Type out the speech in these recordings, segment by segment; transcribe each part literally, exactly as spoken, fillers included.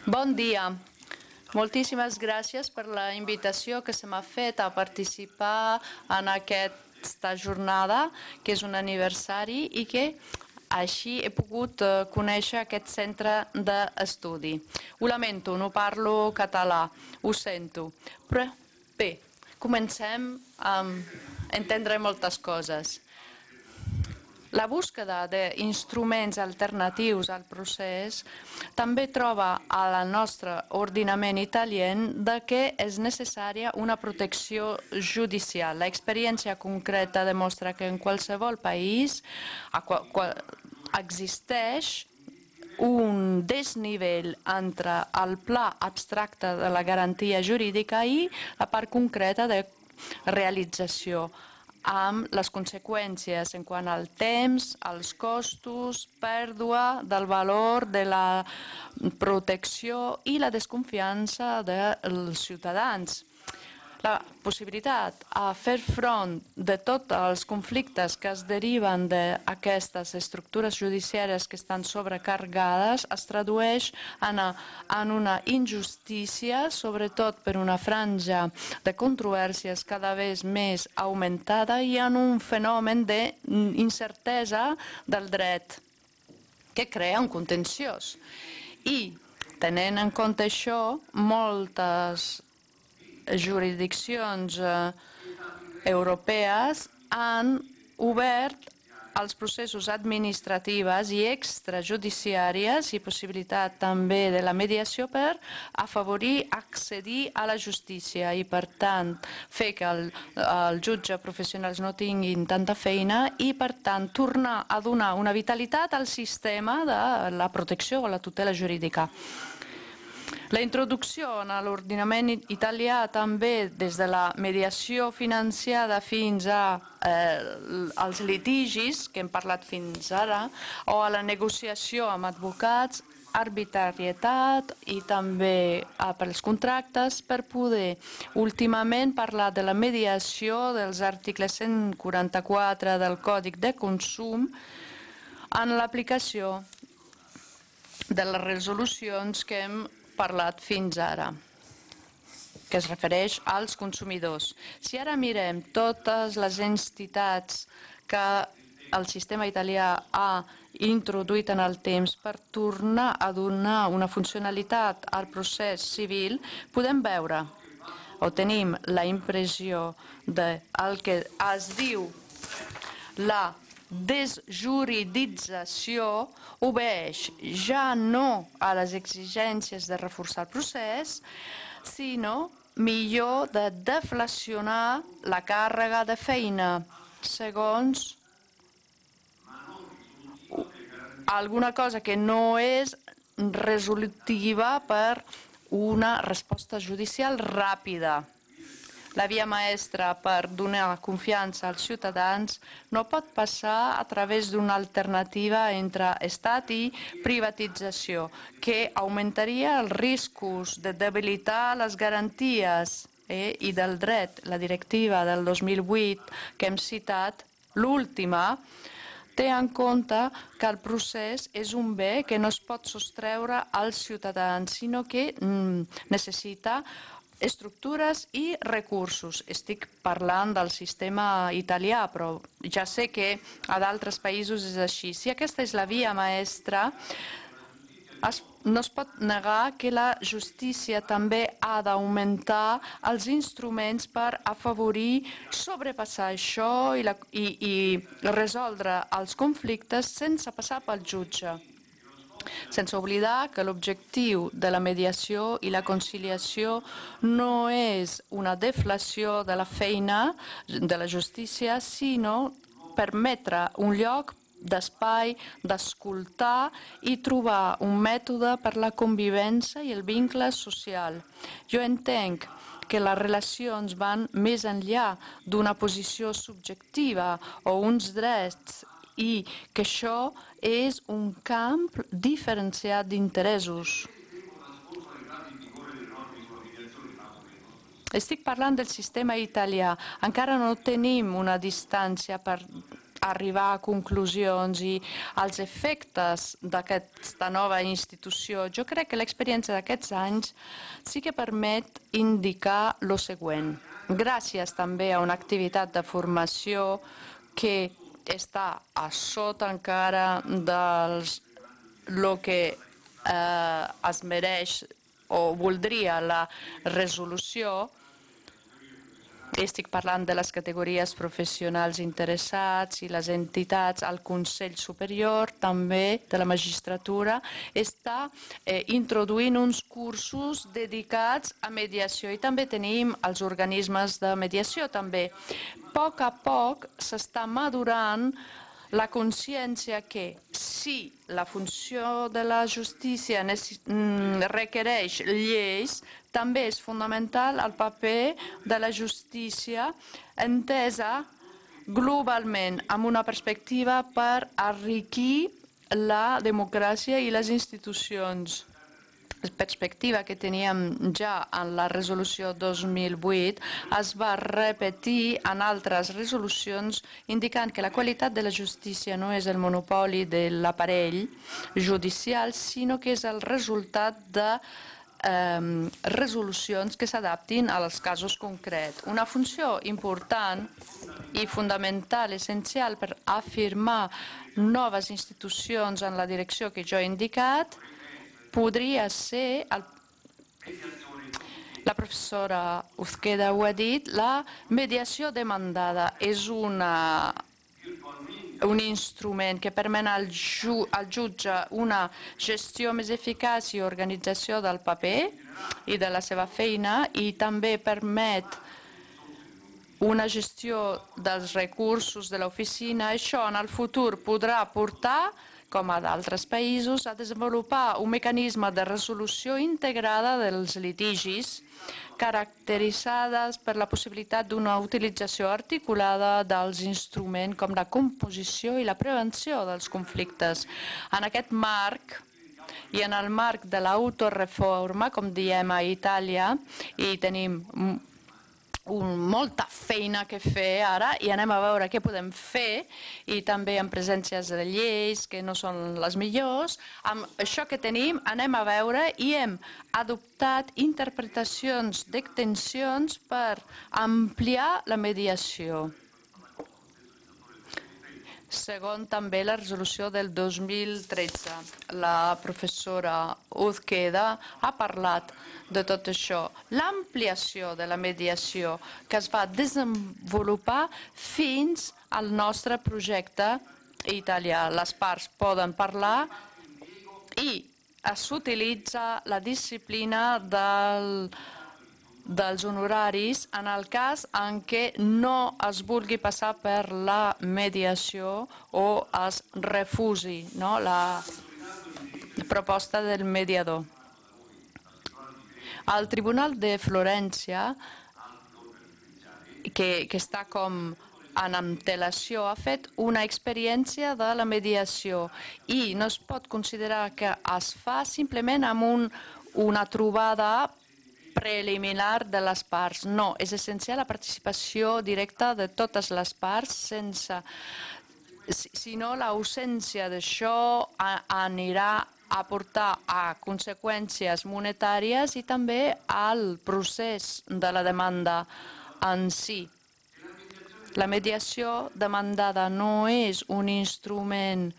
Bon dia. Moltíssimes gràcies per la invitació que se m'ha fet a participar en aquesta jornada, que és un aniversari i que així he pogut conèixer aquest centre d'estudi. Ho lamento, no parlo català, ho sento. Però bé, comencem a entendre moltes coses. La búsqueda d'instruments alternatius al procés també troba al nostre ordenament italià de que és necessària una protecció judicial. L'experiència concreta demostra que en qualsevol país existeix un desnivell entre el pla abstracte de la garantia jurídica i la part concreta de realització, amb les conseqüències en quant al temps, als costos, pèrdua del valor de la protecció i la desconfiança dels ciutadans. La possibilitat a fer front de tots els conflictes que es deriven d'aquestes estructures judiciàries que estan sobrecarregades es tradueix en, en una injustícia, sobretot per una franja de controvèrsies cada vegada més augmentada i en un fenomen d'incertesa del dret que crea un contenciós. I, tenint en compte això, moltes jurisdiccions europees han obert els processos administratius i extrajudiciaris i possibilitat també de la mediació per afavorir, accedir a la justícia i, per tant, fer que el, els jutges professionals no tinguin tanta feina i, per tant, tornar a donar una vitalitat al sistema de la protecció o la tutela jurídica. La introducció en l'ordenament italià també des de la mediació financiada fins als litigis, que hem parlat fins ara, o a la negociació amb advocats, arbitrarietat i també pels contractes per poder últimament parlar de la mediació dels articles cent quaranta-quatre del Codi de Consum en l'aplicació de les resolucions que hem parlat fins ara, que es refereix als consumidors. Si ara mirem totes les entitats que el sistema italià ha introduït en el temps per tornar a donar una funcionalitat al procés civil, podem veure o tenim la impressió del que es diu la desjuridització obeeix ja no a les exigències de reforçar el procés, sinó millor de deflacionar la càrrega de feina, segons alguna cosa que no és resolutiva per una resposta judicial ràpida. La via maestra per donar confiança als ciutadans no pot passar a través d'una alternativa entre estat i privatització, que augmentaria els riscos de debilitar les garanties eh, i del dret. La directiva del dos mil vuit que hem citat, l'última, té en compte que el procés és un bé que no es pot sostreure als ciutadans, sinó que mm, necessita estructures i recursos. Estic parlant del sistema italià, però ja sé que a d'altres països és així. Si aquesta és la via maestra, es, no es pot negar que la justícia també ha d'augmentar els instruments per afavorir, sobrepassar això i, la, i, i resoldre els conflictes sense passar pel jutge. Sense oblidar que l'objectiu de la mediació i la conciliació no és una deflació de la feina de la justícia, sinó permetre un lloc d'espai, d'escoltar i trobar un mètode per la convivència i el vincle social. Jo entenc que les relacions van més enllà d'una posició subjectiva o uns drets i que això és un camp diferenciat d'interessos. Estic parlant del sistema italià. Encara no tenim una distància per arribar a conclusions i als efectes d'aquesta nova institució, jo crec que l'experiència d'aquests anys sí que permet indicar el següent. Gràcies també a una activitat de formació que està a sota encara dels el que eh, es mereix o voldria la resolució. Estic parlant de les categories professionals interessats i les entitats, el Consell Superior també de la magistratura està eh, introduint uns cursos dedicats a mediació i també tenim els organismes de mediació també. A poc a poc s'està madurant la consciència que si la funció de la justícia requereix lleis, també és fonamental el paper de la justícia entesa globalment amb una perspectiva per enriquir la democràcia i les institucions. La perspectiva que teníem ja en la resolució dos mil vuit es va repetir en altres resolucions indicant que la qualitat de la justícia no és el monopoli de l'aparell judicial, sinó que és el resultat de eh, resolucions que s'adaptin als casos concrets. Una funció important i fonamental, essencial per afirmar noves institucions en la direcció que jo he indicat podria ser, el, la professora Uzqueda ho ha dit, la mediació demandada és una, un instrument que permet al, ju, al jutge una gestió més eficaç i organització del paper i de la seva feina i també permet una gestió dels recursos de l'oficina. Això en el futur podrà portar, com a d'altres països, a desenvolupar un mecanisme de resolució integrada dels litigis, caracteritzades per la possibilitat d'una utilització articulada dels instruments com la composició i la prevenció dels conflictes. En aquest marc i en el marc de l'autoreforma, com diem a Itàlia, i tenim Un, molta feina que fer ara i anem a veure què podem fer i també amb presències de lleis que no són les millors. Amb això que tenim anem a veure i hem adoptat interpretacions d'extensions per ampliar la mediació. Segon, també la resolució del dos mil tretze. La professora Uzqueda ha parlat de tot això. L'ampliació de la mediació que es va desenvolupar fins al nostre projecte italià. Les parts poden parlar i s'utilitza la disciplina del dels honoraris en el cas en què no es vulgui passar per la mediació o es refusi, no, la proposta del mediador. El Tribunal de Florència, que, que està com en antelació, ha fet una experiència de la mediació i no es pot considerar que es fa simplement amb un, una trobada preliminar de les parts. No, és essencial la participació directa de totes les parts, sense, si no l'ausència d'això anirà a portar a conseqüències monetàries i també al procés de la demanda en si. La mediació demandada no és un instrument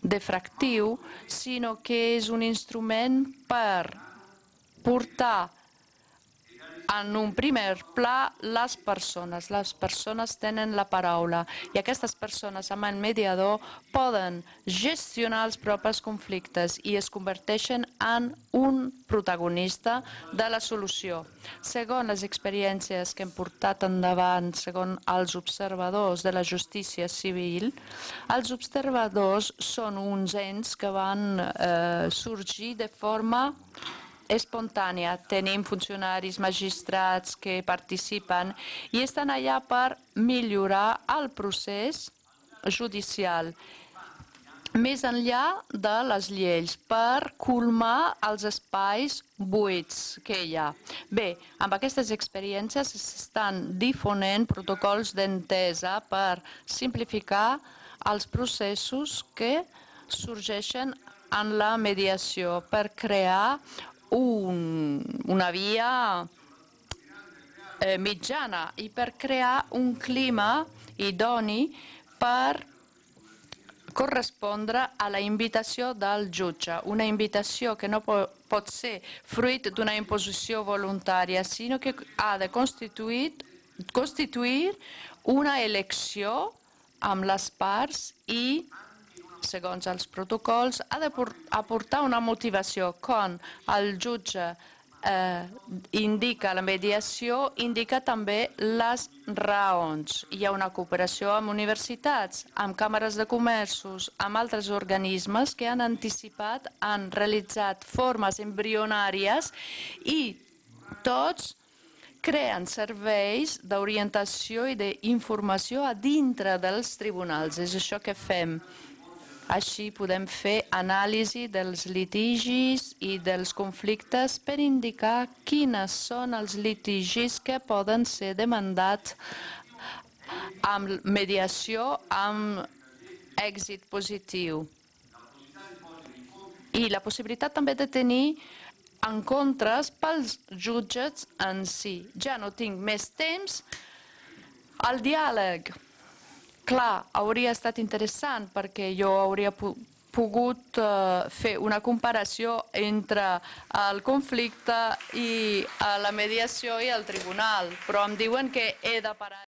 defractiu, sinó que és un instrument per portar en un primer pla les persones. Les persones tenen la paraula i aquestes persones amb el mediador poden gestionar els propis conflictes i es converteixen en un protagonista de la solució. Segons les experiències que hem portat endavant, segons els observadors de la justícia civil, els observadors són uns ens que van eh, sorgir de forma espontània. Tenim funcionaris, magistrats que participen i estan allà per millorar el procés judicial. més enllà de les lleis, per colmar els espais buits que hi ha. Bé, amb aquestes experiències s'estan difonent protocols d'entesa per simplificar els processos que sorgeixen en la mediació, per crear un, una via eh, mitjana i per crear un clima idoni per correspondre a la invitació del jutge, una invitació que no pot ser fruit d'una imposició voluntària, sinó que ha de constituir, constituir una elecció amb les parts i, segons els protocols, ha d'aportar una motivació. Quan el jutge eh, indica la mediació, indica també les raons. Hi ha una cooperació amb universitats, amb càmeres de comerços, amb altres organismes que han anticipat, han realitzat formes embrionàries i tots creen serveis d'orientació i d'informació a dintre dels tribunals. És això que fem. Així podem fer anàlisi dels litigis i dels conflictes per indicar quines són els litigis que poden ser demandats amb mediació amb èxit positiu. I la possibilitat també de tenir encontres pels jutges en si. Ja no tinc més temps. El diàleg. Clar, hauria estat interessant perquè jo hauria pogut uh, fer una comparació entre el conflicte i uh, la mediació i el tribunal, però em diuen que he de parar.